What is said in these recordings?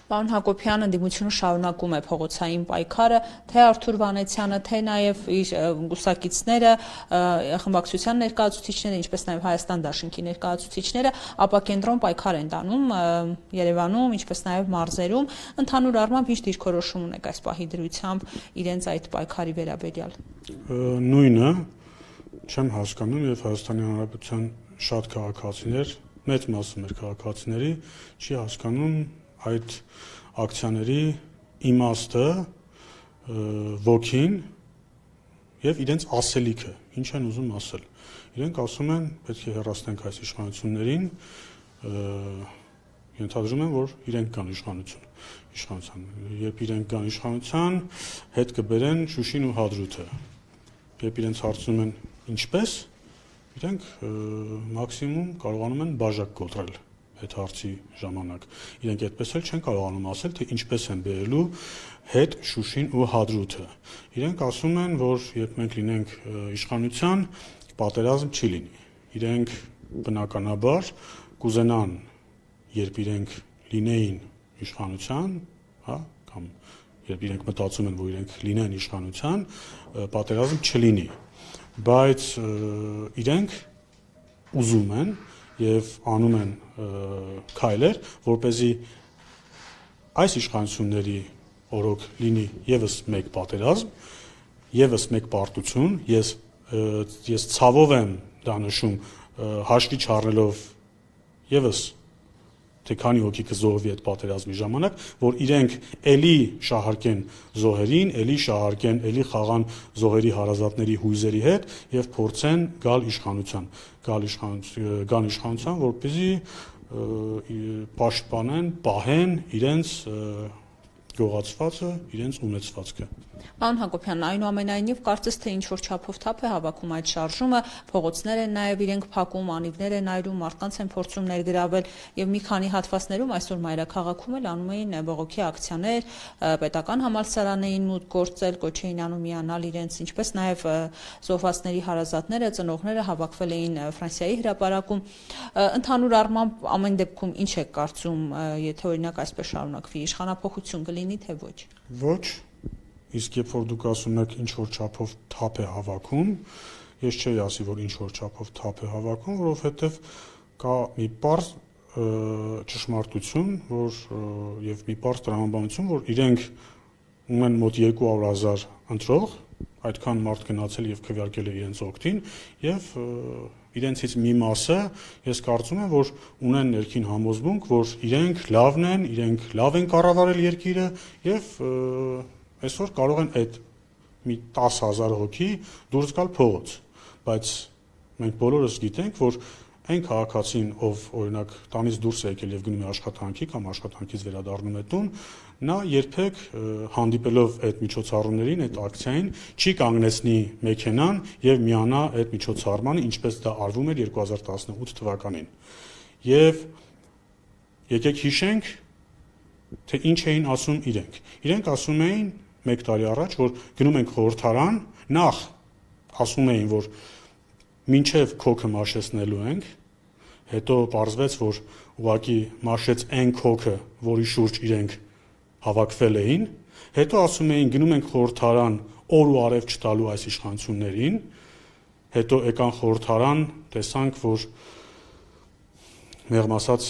Պարոն Հակոբյան, ընդդիմությունը շարունակում է փողոցային պայքարը, թե Արթուր Վանեցյանը, թե նաև իր կուսակիցները, խմբակցության ներկայացուցիչները, ինչպես նաև Հայաստան դաշինքի ներկայացուցիչները ապակենտրոն պայքար են տանում Երևանում, ինչպես նաև մարզերում, ընդհանուր առմամբ ինչ դիրքորոշում ունեք այս պահի դրությամբ իրենց այդ պայքարի վերաբերյալ։ Նույնը չեմ հասկանում եւ Հայաստանի Հանրապետության շատ քաղաքացիներ, մեծ մասը մեր քաղաքացիների չի հասկանում այդ ակցիաների իմաստը, ոգին եւ իրենց ասելիքը, ինչ են ուզում ասել։ Իրենք ասում են, պետք է հեռացնենք այս իշխանություններին, ենթադրում են, որ իրենք կան իշխանության։ Երբ իրենք կան իշխանության, հետ կբերեն Շուշին ու Հադրութը։ Երբ իրենց հարցնում են ինչպես, իրենք մաքսիմում կարողանում են բաժակ կոտրել այդ հարցի ժամանակ։ Իրենք այդպես էլ չեն կարողանում ասել, թե ինչպես են բերելու հետ Շուշին ու Հադրութը։ Իրենք ասում են, որ երբ մենք լինենք իշխանության, պատերազմ չի լինի։ Իրենք բնականաբար կուզենան, երբ իրենք լինեին իշխանության, հա, կամ երբ իրենք մտածում են, որ իրենք լինեն իշխանության, պատերազմ չլինի, բայց իրենք ուզում են եւ անում են քայլեր, որպեսզի այս իշխանությունների օրոք լինի եւս մեկ պատերազմ, եւս մեկ պարտություն, ես ցավով եմ դա նշում, հաշվի չառնելով եւս թե քանի հոգի կզոհվի այդ պատերազմի ժամանակ, որ իրենք էլի շահարկեն զոհերին, էլի շահարկեն, էլի խաղան զոհերի հարազատների հույզերի հետ եւ փորձեն գալ իշխանության, որպեսզի պաշտպանեն, պահեն իրենց գողացվածը, իրենց ունեցվածքը։ Պարոն Հակոբյան, այնուամենայնիվ կարծես թե ինչ-որ չափով թափ է հավաքում այդ շարժումը, փողոցներ են նաև իրենք փակում, անիվներ են այրում, մարդկանց են փորձում ներգրավել եւ մի քանի հատվածներում այսօր մայրաքաղաքում էլ անում էին բողոքի ակցիաներ, պետական համալսարանային մուտք գործել, կոչ էին անում միանալ իրենց, ինչպես նաև զոհվածների հարազատները, ծնողները հավաքվել էին Ֆրանսիայի հրապարակում։ Ընդհանուր առմամբ ամեն դեպքում ինչ եք կարծում, եթե օրինակ այսպես շարունակվի, իշխանափոխություն կլինի թե ոչ։ Ոչ, իսկ երբ որ դուք ասում եք ինչ որ չափով թափ է հավաքում, ես չէի ասի, որ ինչ որ չափով թափ է հավաքում, որովհետև կա մի պարզ ճշմարտություն, որ եւ մի պարզ տրամաբանություն, որ իրենք ունեն մոտ 200,000 ընտրող, այդքան մարդ գնացել եւ քվեարկել է իրենց օգտին եւ իրենցից մի մասը ես կարծում եմ, որ ունեն ներքին համոզմունք, որ իրենք լավն են, իրենք լավ են կառավարել երկիրը եւ այսօր կարող են այդ մի 10,000 հոգի դուրս գալ փողոց, բայց մենք բոլորս գիտենք, որ այն քաղաքացին, ով օրինակ տանից դուրս է եկել եւ գնում է աշխատանքի կամ աշխատանքից վերադառնում է տուն, նա երբեք հանդիպելով այդ միջոցառումներին, այդ ակցիային, չի կանգնեցնի մեքենան եւ միանա այդ միջոցառմանը, ինչպես դա արվում էր 2018 թվականին։ Եվ եկեք հիշենք, թե ինչ էին ասում իրենք։ Իրենք ասում էին 1 տարի առաջ, որ գնում ենք խորհրդարան, նախ ասում էին, որ մինչև քոքը մաշեցնելու ենք, հետո պարզվեց, որ ուղղակի մաշեց այն քոքը, որի շուրջ իրենք հավաքվել էին, հետո ասում էին գնում ենք խորհրդարան օր ու արև չտալու այս իշխանություններին, հետո եկան խորհրդարան, տեսանք, որ մեղմ ասած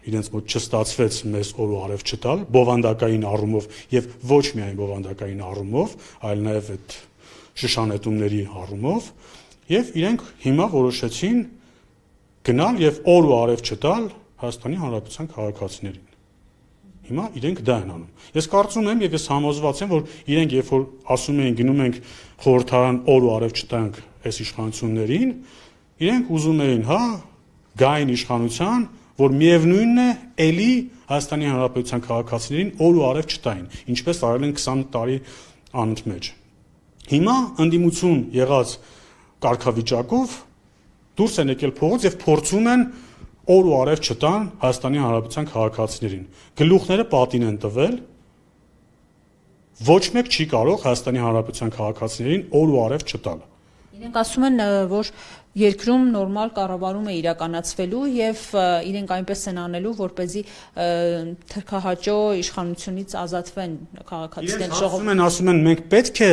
իրենց մոտ չստացվեց մեզ օր ու արև չտալ, բովանդակային առումով եւ ոչ միայն բովանդակային առումով, այլ նաեւ այդ շշանետումների առումով, եւ իրենք հիմա որոշեցին գնալ եւ օր ու արև չտալ Հայաստանի Հանրապետության քաղաքացիներին։ Հիմա իրենք դա են անում։ Ես կարծում եմ եւ ես համոզված եմ, որ իրենք երբ որ ասում էին գնում ենք խորհրդարան օր ու արև չտանք այս իշխանություններին, իրենք ուզում էին, հա, գային իշխանության, որ միևնույնն է, էլի Հայաստանի Հանրապետության քաղաքացիներին օր ու արև չտային, ինչպես արել են 20 տարի անընդմեջ։ Հիմա ընդդիմություն եղած կարգավիճակով դուրս են եկել փողոց եւ փորձում են օր ու արև չտան Հայաստանի Հանրապետության քաղաքացիներին։ Գլուխները պատին են տվել, ոչ մեկ չի կարող Հայաստանի Հանրապետության քաղաքացիներին օր ու արև չտալ։ Իրենք ասում են, որ երկրում նորմալ կառավարում է իրականացվելու եւ իրենք այնպես են անելու, որպեսզի թրքահաճո իշխանությունից ազատվեն քաղաքացիները։ Ասում են մենք պետք է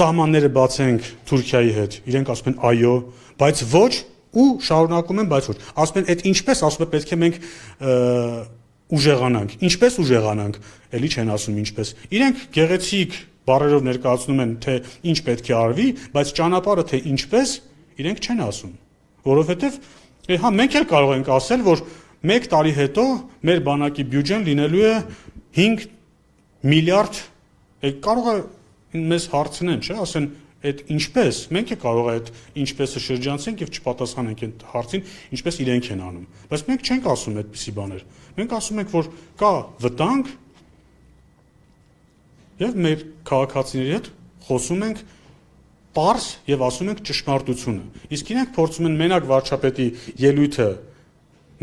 սահմանները բացենք Թուրքիայի հետ։ Իրենք ասում են այո, բայց ոչ ու շարունակում են, բայց ոչ։ Ասում են այդ ինչպես, ասում են պետք է մենք ուժեղանանք։ Ինչպես ուժեղանանք, էլի չեն ասում ինչպես։ Իրենք գեղեցիկ բառերով ներկայացնում են, թե ինչ պետք է արվի, բայց ճանապարհը թե ինչպես իրենք չեն ասում, որովհետև հա մենք էլ կարող ենք ասել, որ 1 տարի հետո մեր բանակի բյուջեն լինելու է 5 միլիարդ, կարող է մեզ հարցնեն, չէ, ասեն այդ ինչպես, մենք է կարող է այդ ինչպեսը շրջանցենք եւ չպատասխանենք այդ հարցին, ինչպես իրենք են անում, բայց մենք չենք ասում այդպիսի բաներ, մենք ասում ենք, որ կա վտանգ եւ մեր քաղաքացիների հետ խոսում ենք պարզ եւ ասում ենք ճշմարտությունը։ Իսկ իրենք փորձում են մենակ վարչապետի ելույթը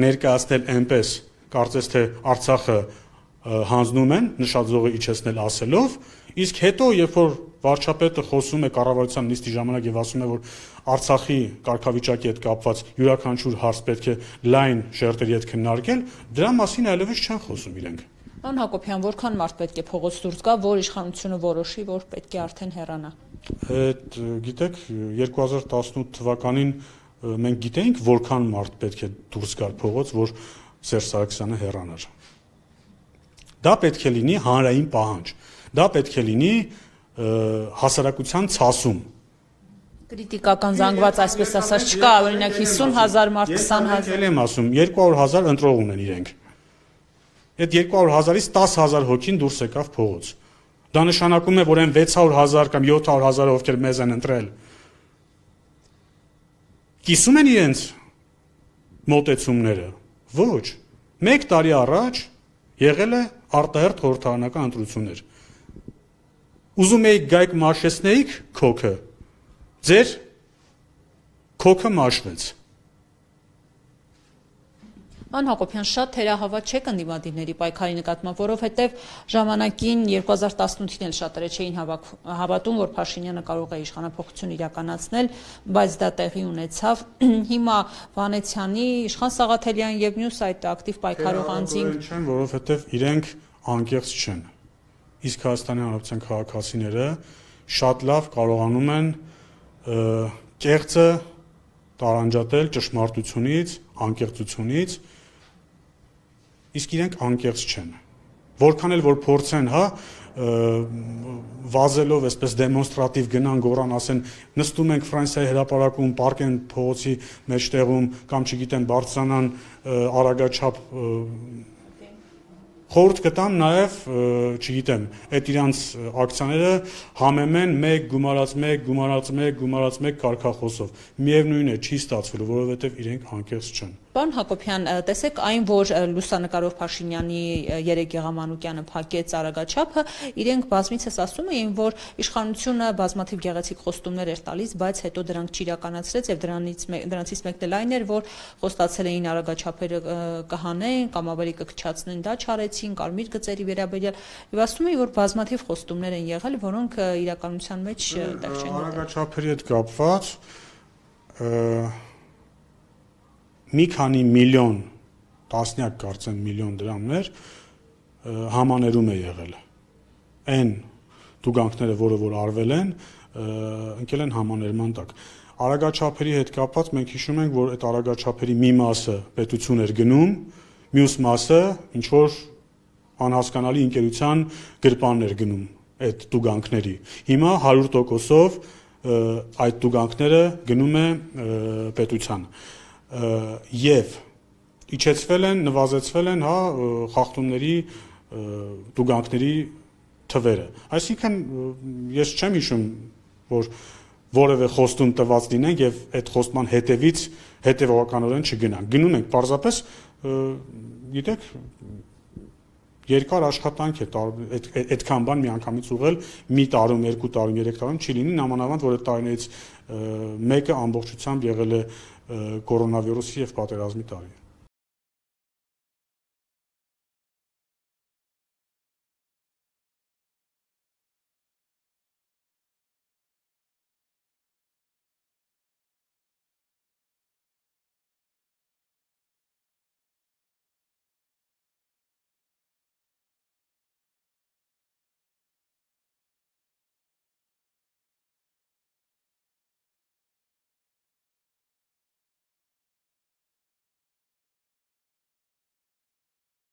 ներկայացնել այնպես, կարծես թե Արցախը հանձնում են, նշաձողը իջեցնել ասելով, իսկ հետո երբ որ վարչապետը խոսում է կառավարության նիստի ժամանակ եւ ասում է, որ Արցախի կարգավիճակի հետ կապված յուրաքանչյուր հարց պետք է լայն շերտերի հետ քննարկել, դրա մասին այլևս չեն խոսում իրենք։ Պարոն Հակոբյան, որքան մարդ պետք է փողոց դուրս գա, որ իշխանությունը որոշի, որ պետք է արդեն հեռանա։ Այդ գիտեք 2018 թվականին մենք գիտեինք որքան մարդ պետք է դուրս գար փողոց, որ Սերժ Սարգսյանը հեռանար։ Դա պետք է լինի հանրային պահանջ։ Դա պետք է լինի հասարակության ցասում։ Կրիտիկական զանգված, այսպես ասած, չկա, օրինակ 50,000 մարդ, 20,000։ Ես եմ ասում, 200,000 ընտրող ունեն իրենք։ Այդ 200,000-ից 10,000 հոգին դուրս եկավ փողոց։ Դա նշանակում է, որ այն 600,000 կամ 700,000 ովքեր մեզ են ընտրել, կիսում են իրենց մոտեցումները։ Ոչ։ 1 տարի առաջ եղել է արտահերթ խորհրդարանական ընտրություններ։ Ուզում եք գայք մաշեցնեիք քոքը, ձեր քոքը մաշվեց։ Պարոն Հակոբյան, շատ թերահավատ չեք ընդդիմադիրների պայքարի նկատմամբ, որովհետև ժամանակին 2018-ին էլ շատերը չէին հավատում, որ Փաշինյանը կարող է իշխանափոխություն իրականացնել, բայց դա տեղի ունեցավ։ Հիմա Վանեցյանի, Իշխան Սաղաթելյան եւ մյուս այդ ակտիվ պայքարող անձինք չեն, որովհետև իրենք անկեղծ չեն։ Իսկ Հայաստանի Հանրապետության քաղաքացիները շատ լավ կարողանում են կեղծը տարանջատել ճշմարտությունից, անկեղծությունից, իսկ իրենք անկեղծ չեն։ Որքան էլ որ փորձեն, հա, վազելով այսպես դեմոնստրատիվ գնան գորան, ասեն նստում ենք Ֆրանսիայի հրապարակում, պարկեն փողոցի մեջտեղում կամ չգիտեմ բարձրանան արագաչափ խորհուրդ կտամ նաև, չգիտեմ, այդ իրանց ակցիաները համեմեն 1 գումարած 1 կարգախոսով։ Միևնույն է, չի ստացվելու, որովհետև իրենք անկեղծ չեն։ Պարոն Հակոբյան, տեսեք այն, որ լուսանկարով Փաշինյանի երեք Եղամանուկյանը փակեց արագաչափը, իրենք բազմիցս ասում էին, որ իշխանությունը բազմաթիվ գեղեցիկ խոստումներ էր տալիս, բայց հետո դրանք չիրականացրեց եւ դրանցից մեկն էլ այն էր, որ խոստացել էին արագաչափերը կհանեն կամ ավելի կքչացնեն, դա չարեցին, կարմիր գծերի վերաբերյալ եւ ասում էին, որ բազմաթիվ խոստումներ են եղել, որոնք իրականության մեջ տեղ չեն գտել։ Արագաչափերի հետ կապված մի քանի միլիոն, տասնյակ կարծեմ միլիոն դրամներ համաներում է եղել։ Այն տուգանքները, որ արվել են, ընկել են համաներման տակ։ Արագաչափերի հետ կապված մենք հիշում ենք, որ այդ արագաչափերի մի մասը պետություն էր գնում, մյուս մասը ինչ որ անհասկանալի ընկերության գրպանն էր գնում այդ տուգանքների։ Հիմա 100%-ով այդ տուգանքները գնում է պետության։ Եվ իջեցվել են, նվազեցվել են, հա, խախտումների, տուգանքների թվերը։ Այսինքն ես չեմ հիշում, որ որևէ խոստում տված լինենք եւ այդ խոստման հետևից հետեւողականորեն չգնանք։ Գնում ենք պարզապես, գիտեք, երկար աշխատանք է այդքան բան միանգամից ուղղել մի տարում, 2 տարում, 3 տարում չի լինի, նամանավանդ որ այդ տարիներից մեկը ամբողջությամբ եղել է կորոնավիրուսի եւ պատերազմի տարի։